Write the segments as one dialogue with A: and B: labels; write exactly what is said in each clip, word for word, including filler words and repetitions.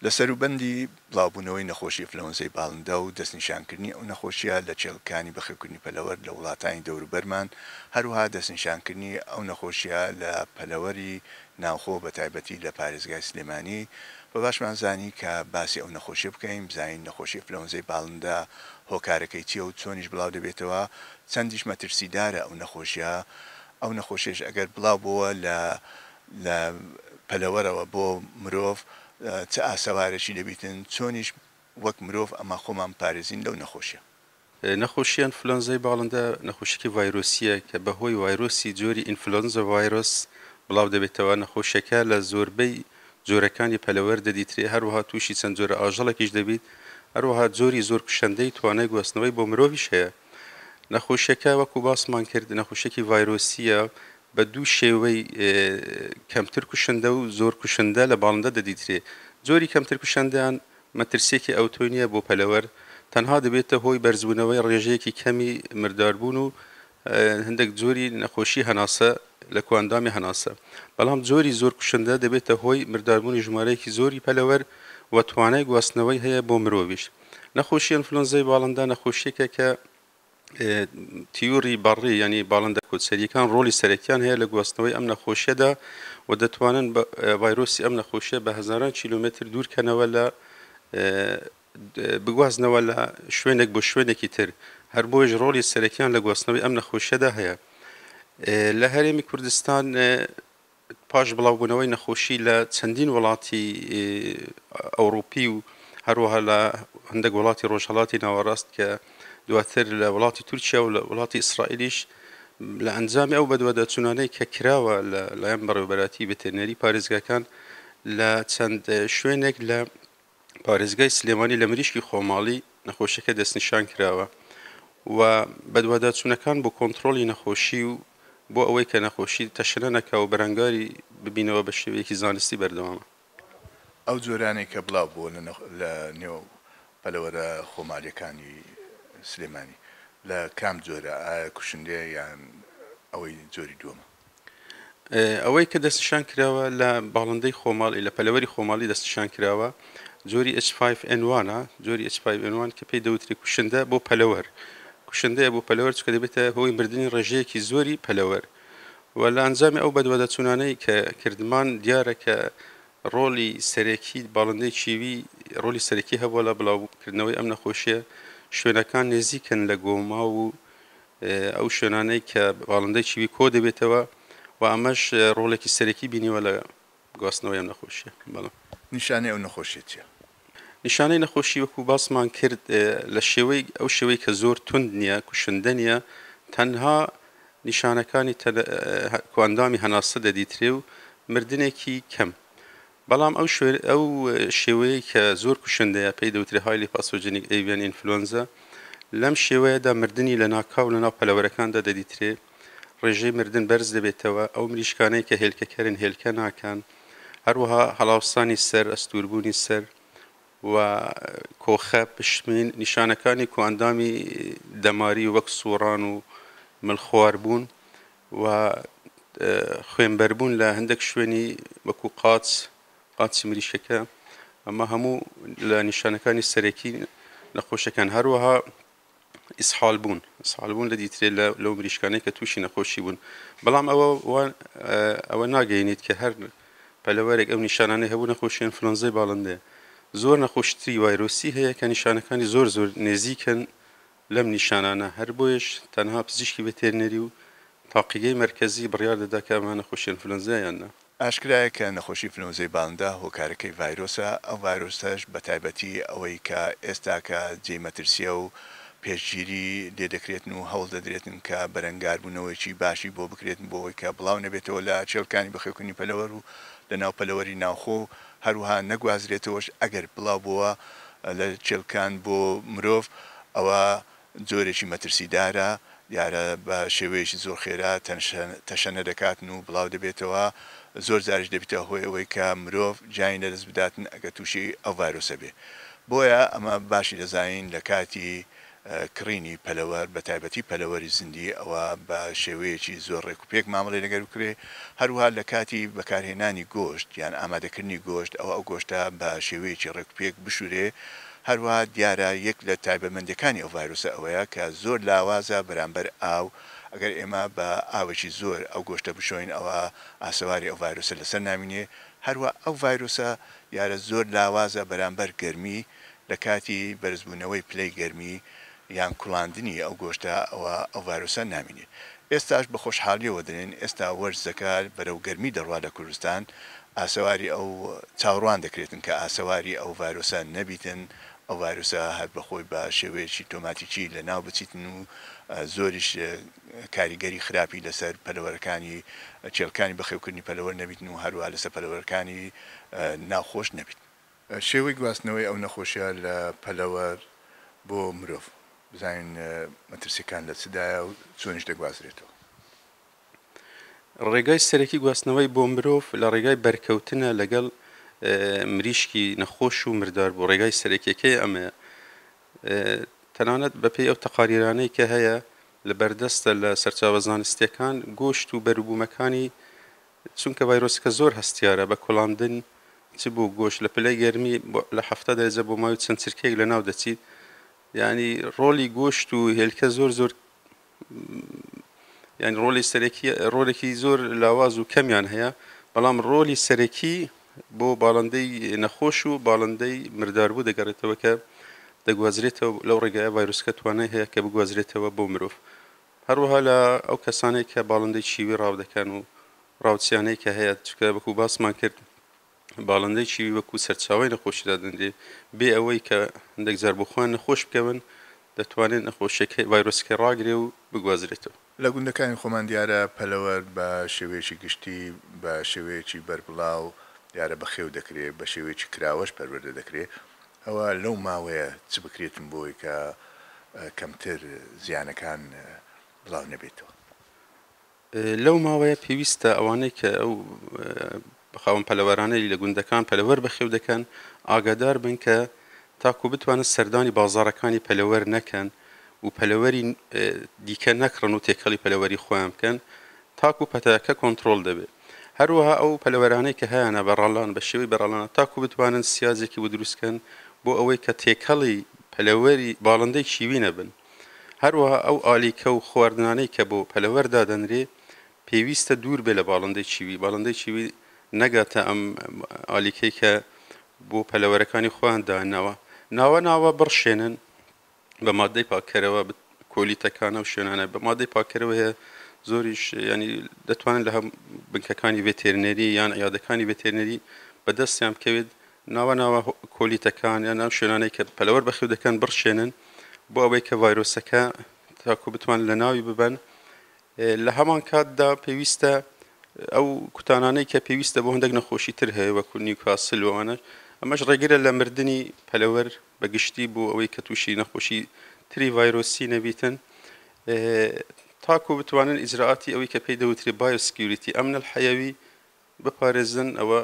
A: لە سەروبەندی بڵاوبوونەوەی نەخۆشی ئەنفلەوەنزای باڵندە و دەستنیشانکردنی ئەو نەخۆشیە لە کێڵگەکانی بەخێوکردنی پەلەوەر لە وڵاتانی دەوروبەرمان، هەروەها دەستنیشانکردنی ئەو نەخۆشیە لە پەلەوەری ناوخۆ بە تایبەتی لە پارێزگای سلێمانی، بە باشمان زانی کە باسی ئەو نەخۆشیە بکەین، بزانین نەخۆشی ئەنفلەوەنزای باڵندە هۆکارەکەی چییە و چۆنیش بڵاو دەبێتەوە، چەندیش مەترسیدارە ئەو نەخۆشیە. ئەو نەخۆشیش ئەگەر بڵاو بووە لە لە پەلەوەرەوە بۆ مرۆڤ چ ئاسەوارێکی دەبیتن، چۆنیش وەک مرۆڤ ئەمە خۆمان پارێزین لەو نەخۆشیە.
B: نەخۆشی ئەنفلۆنزای باڵندە نەخۆشیێکی ڤایرۆسیە کە بەهۆی ڤایرۆسی جۆری ئینفلۆنزا ڤایرۆس بڵاو دەبێتەوە. نەخۆشیەکە لە زۆربەی جۆرەکانی پەلەوەر دەدیترێ، هەروەها تووشی چەند جۆرە ئاژەڵێکیش دەبیت، هەروەها جۆری زۆر کوشندەی توانای گواستنەوەی بۆ مرۆڤیش هەیە. نەخۆشیەکە وەکو باسمان کرد نەخۆشیێکی ڤایرۆسیە بە دوو شێوەی کەمتر کوشندە و زۆر کوشندە لە باڵندە دەدیترێ. جۆری کەمتر کوشندەیان مەترسیەکی ئەوتۆ نییە بۆ پەلەوەر، تەنها دەبێتە هۆی بەرزبوونەوەی ڕێژەیەکی کەمی مرداربوون و هەندێک جۆری نەخۆشی هەناسە لە کۆئەندامی هەناسە. بەڵام جۆری زۆر کوشندە دەبێتە هۆی مرداربوونی ژمارەیەکی زۆری پەلەوەر و توانای گواستنەوەی هەیە بۆ مرۆڤیش. نەخۆشی ئەنفلۆنزای باڵندە نەخۆشیەکە کە تیوری بەڕی ینی باڵندە کۆچەریەکان ڕۆڵی سەرەکیان هەیە لە گواستنەوەی ئەم نەخۆشیەدا و دەتوانن ڤایرۆسی ئەم نەخۆشیە بە هەزاران کیلۆمەتر دوورکەنەوە لە بگوازنەوە لە شوێنێک بۆ شوێنێکی تر. هەر بۆیش ڕۆڵی سەرەکیان لە گواستنەوەی ئەم نەخۆشیەدا هەیە. لە هەرێمی کوردستان پاش بڵاوبوونەوەی نەخۆشی لە چەندین وڵاتی ئەوروپی و هەروەها لە هەندێک وڵاتی ڕۆژهەڵاتی ناوەڕاست کە دواتر لە وڵاتی تورکیا و لە وڵاتی ئیسرائیلیش لە ئەنجامی ئەو بەدواداچوونانەی کە کراوە لە لایەن بەڕێوەبەرایەتی ڤێتێرنەری پارێزگاکان لە چەند شوێنێک لە پارێزگای سلێمانی لە مریشکی خۆماڵی نەخۆشیەکە دەستنیشان کراوە و بەدواداچوونەکان بۆ کۆنترۆڵی نەخۆشی و بۆ ئەوەی کە نەخۆشی تەشەنە نەکا و بەرەنگاری ببینەوە بە شێوەیەکی زانستی بەردەوامە.
A: ئەو جۆرانەی کە بڵاو بووە لە نێو پەلەوەرە خۆماڵیەکانی سلێمانی لە کام جۆرە، ئایا کوشندەیە یان ئەوەی جۆری دووەمە؟
B: ئەوەی کە دەستنیشان کراوە لە باڵندەی خۆماڵی لە پەلەوەری خۆماڵی دەستنیشان کراوە جۆری ئێچ فایڤ ئێن وان، جۆری ئێچ فایڤ ئێن وان کە پێی دەوتری کوشندە بۆ پەلەوەر، کوشندەیە بۆ پەلەوەر چونکە دەبێتە هۆی مردنی ڕێژەیەکی زۆری پەلەوەر و لە ئەنجامی ئەو بەدواداچوونانەی کە کردمان دیارە کە ڕۆڵی سەرەکی باڵندەی چیوی ڕۆڵی سەرەکی هەبووە لە بڵاوکردنەوەی ئەم نەخۆشیە. شوێنەکان نزیکن لە گۆما و ئەو شوێنانەی کە باڵندەی چیوی کۆ دەبێتەوە و ئەمەش ڕۆڵێکی سەرەکی بینیوە لە گواستنەوەی ئەم نەخۆشیە. بەڵام
A: نیشانەی ئەو نەخۆشیە چییە؟
B: نیشانەی نەخۆشی وەکو باسمان کرد لە شێوەی ئەو شێوەی کە زۆر توند نییە، کوشندە نییە، تەنها نیشانەکانی کۆئەندامی هەناسە دەدیترێ و مردنێکی کەم. بەڵام ئەو ئەو شێوەیە کە زۆر کوشندەیە پێی دەوترێ highly pathogenic avian influenza، لەم شێوەیەدا مردنی لە ناکاو لەناو پەلەوەرەکاندا دەدیترێ، ڕێژەی مردن بەرز دەبێتەوە، ئەو مریشکانەی کە هێلکەکەرن هێلکە ناکەن، هەروەها هەڵاوسانی سەر، ئەستوربوونی سەر و کۆخە، پشمین، نیشانەکانی کۆئەندامی دەماری وەک سووران و ملخواربوون و خوێنبەربوون لە هەندێک شوێنی وەکو قاچ، قاچی مریشکەکە، ئەمە هەموو لە نیشانەکانی سەرەکی نەخۆشەکان. هەروەها ئیسحال بوون، ئیسحال بوون لە دیترێ لەو مریشکانەی کە تووشی نەخۆشی بوون. بەڵام ئەوە ئەوە ناگەینیت کە هەر پەلەوەرێک ئەو نیشانانەی هەبوو نەخۆشی ئەنفلۆنزای باڵندەیە. زۆر نەخۆشتری ڤایرۆسی هەیە کە نیشانەکانی زۆر زۆر نزیکن لەم نیشانانە، هەر بۆیش تەنها پزیشکی ڤێتێرنەری و تاقیگەی مەرکەزی بڕیار دەدا کە ئەمە نەخۆشی ئەنفلۆنزایان نا.
A: ئاشکرایە کە نەخۆشی ئەنفلۆنزای باڵندە هۆکارەکەی ڤایرۆسە، ئەو ڤایرۆسەش بە تایبەتی ئەوەی کە ئێستاکە جێی مەترسیە و پێشگیری لێ دەکرێتن و هەوڵ دەدرێتن کە بەرەنگاربوونەوەیکی باشی بۆ بکرێتن بۆ ئەوەی کە بڵاو نەبێتەوە لە کێڵگەکانی بەخێوکردنی پەلەوەر و لە ناو پەلەوەری ناوخۆ، هەروەها نەگوازرێتەوەش ئەگەر بڵاو بووە لە کێڵگەکان بۆ مرۆڤ ئەوە جۆرێکی مەترسیدارە، دیارە بە شێوەیەکی زۆر خێرا تەشەنە دەکاتن و بڵاو دەبێتەوە، زۆر جاریش دەبێتە هۆی ئەوەی کە مرۆڤ گیانی لەدەست بداتن ئەگەر تووشی ئەو ڤایرۆسە بێ. بۆیە ئەمە باشی دەزانین لە کاتی کڕینی پەلەوەر بە تایبەتی پەلەوەری زیندی ئەوە بە شێوەیەکی زۆر ڕێک و پێک مامەڵەی لەگەر بکرێ. هەروەها لە کاتی بەکارهێنانی گۆشت یان ئامادەکردنی گۆشت ئەوە ئەو گۆشتە بە شێوەیەکی ڕێک و پێک بشورێ. هەروەها دیارە یەک لە تایبەتمەندیەکانی ئەو ڤایرۆسە ئەوەیە کە زۆر لاوازە بەرامبەر ئاو. ئەگەر ئێمە بە ئاوێکی زۆر ئەو گۆشتە بشۆین ئەوە ئاسەواری ئەو ڤایرۆسە لەسەر نامینێ. هەروە ئەو ڤایرۆسە دیارە زۆر لاوازە بەرامبەر گەرمی، لە کاتی بەرزبوونەوەی پلەی گەرمی یان کوڵاندنی ئەو گۆشتە ئەوە ئەو ڤایرۆسە نامینێ. ئێستاش بە خۆشحاڵیەوە دەڵێن ئێستا وەرزەکە بەرەو گەرمی دەڕوا لە کوردستان، ئاسەواری ئەو چاوەڕوان دەکرێتن کە ئاسەواری ئەو ڤایرۆسە نەبیتن، ئەو ڤایرۆسە هەر بەخۆی بە شێوەیەکی تۆماتیکی لە ناو بچیتن و زۆریش کاریگەری خراپی لەسەر پەلەوەرەکانی کێڵکانی بەخێوکردنی پەلەوەر نەبیتن و هەروە لەسەر پەلەوەرەکانی ناوخۆش نەبیت. شێوەی گواستنەوەی ئەو نەخۆشیە لە پەلەوەر بۆ مرۆڤ بزانین مەترسیەکان لە چدایە و چۆنیش دەگوازرێتەوە.
B: ڕێگای سەرەکی گواستنەوەی بۆ مرۆڤ لە ڕێگای بەرکەوتنە لەگەڵ مریشکی نەخۆش و مردار بوو. ڕێگای سەرەکیەکەی ئەمەیە. تەنانەت بەپێی ئەو تەقاریرانەی کە هەیە لە بەردەستە لە سەرچاوە زانستیەکان، گۆشت و بەروبوومەکانی چونکە ڤایرۆسەکە زۆر هەستیارە بە کوڵاندن چ بۆ گۆشت لە پلەی گەرمی لە حەفتا دەرەجە بۆ ماوەی چەند چرکەیەک لە ناو دەچیت. یعنی ڕۆڵی گۆشت و هێلکە زۆر زۆر یعنی ڕۆڵی سەرەکی ڕۆڵێکی زۆر لاواز و کەمیان هەیە، بەڵام ڕۆڵی سەرەکی بۆ باڵندەی نەخۆش و باڵندەی مرداربوو دەگەڕێتەوە کە دەگوازرێتەوە لەو ڕێگایە ڤایرۆسەکە توانای هەیە کە بگوازرێتەوە بۆ مرۆڤ. هەروەها لە ئەو کەسانەی کە باڵندەی چیوی ڕاو دەکەن و ڕاوچیانەی کە هەیە، چونکە وەکو باسمان کرد باڵندەی چیوی وەکو سەرچاوەی نەخۆشی دادەنرێ، بێ ئەوەی کە هەندێک جار بۆ خۆیان نەخۆش بکەون دەتوانێت نەخۆشیەکەی ڤایرۆسەکەی ڕاگرێ و بگوازرێتەوە.
A: لە گوندەکانی خۆمان دیارە پەلەوەر بە شێوەیەکی گشتی بە شێوەیەکی بەربڵاو دیارە بەخێو دەکرێت، بە شێوەیەکی کراوەش پەروەردە دەکرێت. ئەوە لەو ماوەیە چ بکرێتن بۆی کە کەمتر زیانەکان بڵاو نەبێتەوە؟
B: لەو ماوەیە پێویستە ئەوانەی کە ئەو خاوەن پەلەوەرانەی لە گوندەکان پەلەوەر بەخێو دەکەن ئاگادار بن کە تاکو بتوانن سەردانی بازارەکانی پەلەوەر نەکەن و پەلەوەری دیکە نەکڕن و تێکەڵی پەلەوەری خۆیان بکەن تاکو پەتاکە کۆنترۆڵ دەبێت. هەروەها ئەو پەلەوەرانەی کە هەیەە بەڕاڵان بە شێوەی بەڕاڵانە تاکو بتوانن سیاجێکی بۆ دروستکەن بۆ ئەوەی کە تێکەڵی پەلەوەری باڵندەی چیوی نەبن. هەروەها ئەو ئالیکە و خواردنانەی کە بۆ پەلەوەر دادەنرێ پێویستە دوور بێ لە باڵندەی چیوی، باڵندەی چیوی نەگاتە ئەم ئالیکەی کە بۆ پەلەوەرەکانی خۆیان داناوە. ناوە ناوە بڕشێنن بە مادەی پاککەرەوە، کۆلیتەکانە و شوێنانە بە مادەی پاککەرەوە هەیە زۆریش، ینی دەتوانن لە هەم بنکەکانی ڤێتێرنەری یان عیادەکانی ڤێتێرنەری بەدەستیان بکەوێت. ناوە ناوە کۆلیتەکان یان ئەم شوێنانەی کە پەلەوەر بەخێو دەکەن بڕشێنن بۆ ئەوەی کە ڤایرۆسەکە تاکو بتوانن لە ناوی ببەن. لە هەمان کاتدا پێویستە ئەو کوتانانەی کە پێویستە بۆ هەندێک نەخۆشی تر هەیە وەکو نیوکاسل و ئەوانە، ئەمەش ڕێگرە لە مردنی پەلەوەر بەگشتی بۆ ئەوەی کە تووشی نەخۆشی تری ڤایرۆسی نەبیتن، تاکو بتوانن ئیجراعاتی ئەوەی کە پێی دەوترێ biosecurity ئەمن الحەیەوی بپارێزن، ئەوە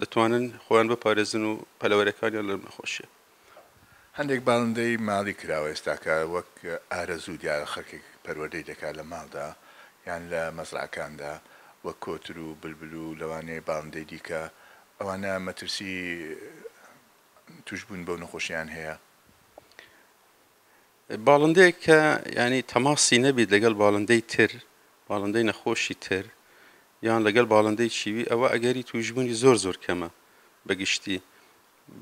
B: دەتوانن خۆیان بپارێزن و پەلەوەرەکانیان لە نەخۆشیە.
A: هەندێک باڵندەی ماڵی کراوە ئێستاکە وەک ئارەزوو دیارە خەڵکێک پەروەردەی دەکات لە ماڵدا یان لە مەزرعەکاندا وەک کۆتر و بلبل و لەوانەیە باڵندەی دیکە، ئەوانە مەترسی توشبوون بەو نەخۆشیان هەیە؟
B: باڵندەیەک کە ینی تەماسی نەبیت لەگەڵ باڵندەی تر، باڵندەی نەخۆشی تر یان لەگەڵ باڵندەی چیوی، ئەوە ئەگەری توشبوونی زۆر زۆر کەمە بەگشتی.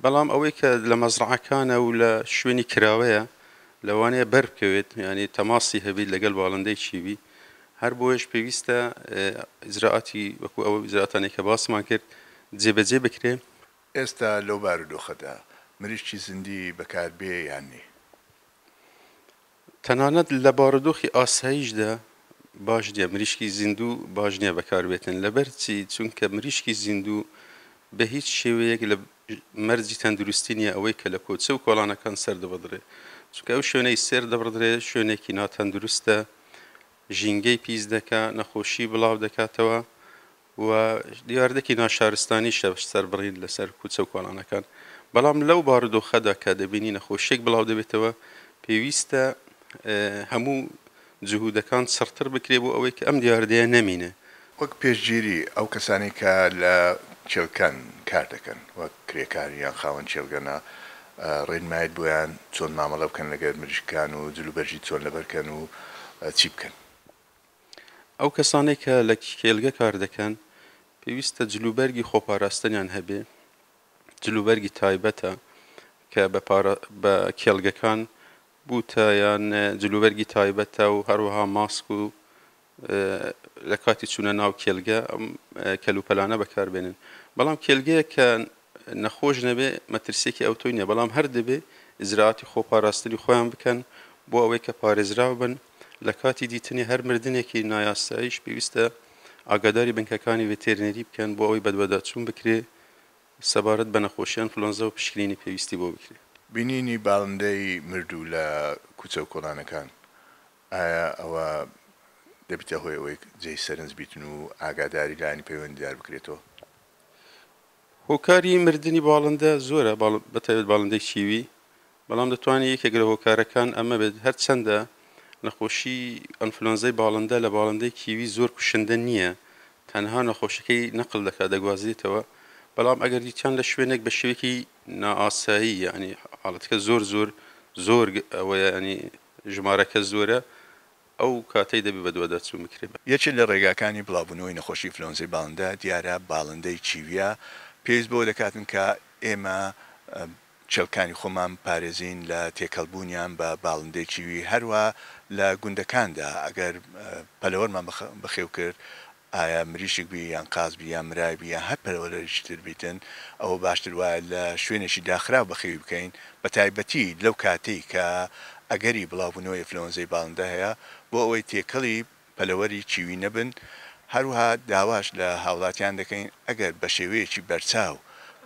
B: بەڵام ئەوەی کە لە مەزرعەکانە و لە شوێنی کراوەیە لەوانەیە بەر بکەوێت، ینی تەماسی هەبیت لەگەڵ باڵندەی چیوی. هەر بۆیش پێویستە ئیجراعاتی وەکو ئەوە ئیجراعاتانەی کە باسمان کرد جێبەجێ بکرێ.
A: ئێستا لەو بارودۆخەدا مریشکی زیندی بەکاربێ یان نی؟
B: تەنانەت لە بارودۆخی ئاساییشدا باش نییە، مریشکی زیندوو باش نییە بەکاربێتن. لەبەر چی؟ چونکە مریشکی زیندوو بە هیچ شێوەیەک لە مەرجی تەندروستی نییە ئەوەی کە لە کۆچە و کۆڵانەکان سەر دەبڕدرێ، چونکە ئەو شوێنەی سەر دەبڕدرێ شوێنێکی ناتەندروستە، ژینگەی پیس دەکا، نەخۆشی بڵاو دەکاتەوە و دیاردەکی ناشارستانی سەربڕین لەسەر کوچە و کۆڵانەکان. بەڵام لەو بارودۆخەدا کە دەبینی نەخۆشیێک بڵاو دەبێتەوە پێویستە هەموو جهودەکان چڕتر بکرێ بۆ ئەوەی کە ئەم دیاردەیە نەمینێ.
A: وەک پێشگیری ئەو کەسانەی کە لە کێڵگەکان کار دەکەن وەک کرێکار یان خاوەن کێڵگەنە، ڕێنمایت بۆیان چۆن مامەڵە بکەن لەگەر مریشکان و جلوبەرگی چۆن لەبەرکەن و چی بکەن؟
B: ئەو کەسانەی کە لە کێڵگە کار دەکەن پێویستە جلوبەرگی خۆپاراستنیان هەبێ، جلوبەرگی تایبەتە کە بە کێڵگەکان بووتە یان جلوبەرگی تایبەتە و هەروەها ماسک و لە کاتی چوونە ناو کێڵگە ئەم کەلوپەلانە بەکاربێنن. بەڵام کێڵگەیە کە نەخۆش نەبێ مەترسیەکی ئەوتۆی نییە، بەڵام هەر دەبێ ئیجرائاتی خۆپاراستنی خۆیان بکەن بۆ ئەوەی کە پارێزراو بن. لە کاتی دیتنی هەر مردنێکی نایاساییش پێویستە ئاگاداری بنکەکانی ڤێتێرنەری بکەن بۆ ئەوەی بەدواداچوون بکرێ سەبارەت بە نەخۆشی ئەنفلۆنزا و پشکنینی پێویستی بۆ بکرێ.
A: بینینی باڵندەی مردوو لە کوچە و کۆڵانەکان ئایا ئەوە دەبیتە هۆی ئەوەی جێی سەرنج بیتن و ئاگاداری لایەنی پەیوەندیدار بکرێتەوە؟
B: هۆکاری مردنی باڵندە زۆرە، بەتایبەت باڵندەی کیوی، بەڵام دەتوانێت یەکێک لە هۆکارەکان ئەمە بێت. هەرچەندە نەخۆشی ئەنفلۆنزای باڵندە لە باڵندەی کیوی زۆر کوشندە نییە، تەنها نەخۆشەکەی نەقل دەکات دەگوازێتەوە، بەڵام ئەگەر دیتیان لە شوێنێک بە شێوەیەکی نائاسایی، یعنی حاڵەتەکە زۆر زۆر زۆر ئەوەیە، ینی ژمارەکە زۆرە، ئەو کاتەی دەبێت بەدواداچوون بکرێت.
A: یەکێک لە ڕێگاکانی بڵاوبوونەوەی نەخۆشی ئینفلۆنزای باڵندە دیارە باڵندەی کیویە. پێویست بەوە دەکاتن کە ئێمە کێڵکانی خۆمان پارێزین لە تێکەڵبوونیان بە باڵندەی کیوی. هەروە لە گوندەکاندا ئەگەر پەلەوەرمان بەخێو کرد، ئایا مریشک بی یان قاز بی یان مرای بی یان هەر پەلەوەرێکی تر بیتن، ئەوە باشتر وایە لە شوێنێکی داخراو بەخێوی بکەین، بە تایبەتی لەو کاتەی کە ئەگەری بڵاوبوونەوەی ئینفلۆنزای باڵندە هەیە، بۆ ئەوەی تێکەڵی پەلەوەری کیوی نەبن. هەروەها داواش لە هاوڵاتیان دەکەین ئەگەر بە شێوەیەکی بەرچاو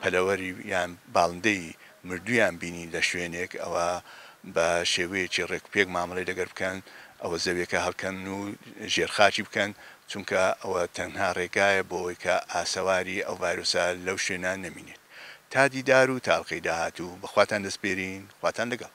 A: پەلەوەری یان باڵندەی مردوویان بینی لە شوێنێک، ئەوە بە شێوەیەکی ڕێکوپێک مامەڵەی لەگەر بکەن، ئەوە زەویەکە هەڵکەن و ژێرخاکی بکەن، چونکە ئەوە تەنها ڕێگایە بۆ ئەوەی کە ئاسەواری ئەو ڤایرۆسە لەو شوێنە نەمینێت. تا دیدار و تاڵقەی داهاتوو بەخواتان دەسپێرین، خواتان لەگەڵ.